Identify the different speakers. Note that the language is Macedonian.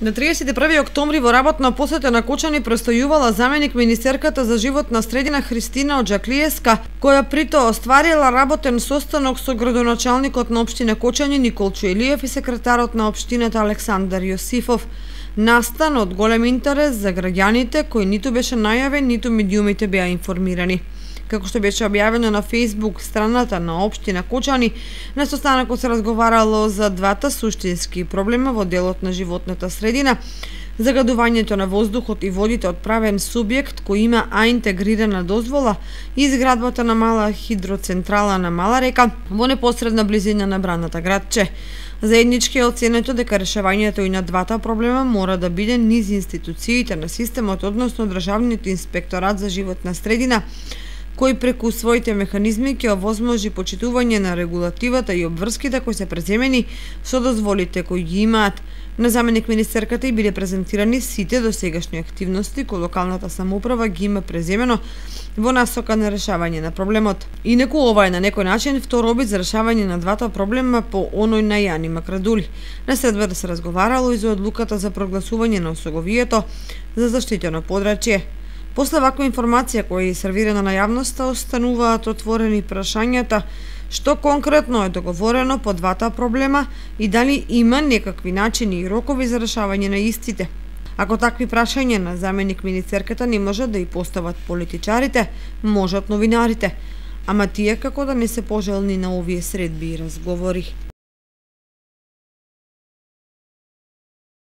Speaker 1: На 31 октомври во работна посета на Кочани престојувала заменик министерката за животна средина Христина Оџаклиевска, која прито остварила работен состанок со градоначалникот на општина Кочани Николчо Илиев и секретарот на општината Александар Јосифов. Настан од голем интерес за граѓаните кои ниту беше најавен, ниту медиумите беа информирани. Како што беше објавено на Facebook страната на општина Кочани, на состанокот се разговарало за двата суштински проблема во делот на животната средина: загадувањето на воздухот и водите од правен субјект кој има интегрирана дозвола и изградбата на мала хидроцентрала на Мала река во непосредна близина на браната градче. Заеднички е оценето дека решавањето и на двата проблема мора да биде низ институциите на системот, односно Државниот инспекторат за животна средина, кој преку своите механизми ќе овозможи почитување на регулативата и обврските кои се преземени со дозволите кои ги имаат. На заменик министерката и биле презентирани сите досегашни активности кои локалната самоуправа ги има преземено во насока на решавање на проблемот. Инаку ова е на некој начин втор обид за решавање на двата проблема по оној на Јани Макрадули. На следва се разговарало и за одлуката за прогласување на осоговието за заштитено подрачје. После ваква информација која е сервирана на јавноста, остануваат отворени прашањата што конкретно е договорено по двата проблема и дали има некакви начини и рокови за решавање на истите. Ако такви прашања на заменик министерката не можат да и постават политичарите, можат новинарите, ама тие како да не се пожелни на овие средби и разговори.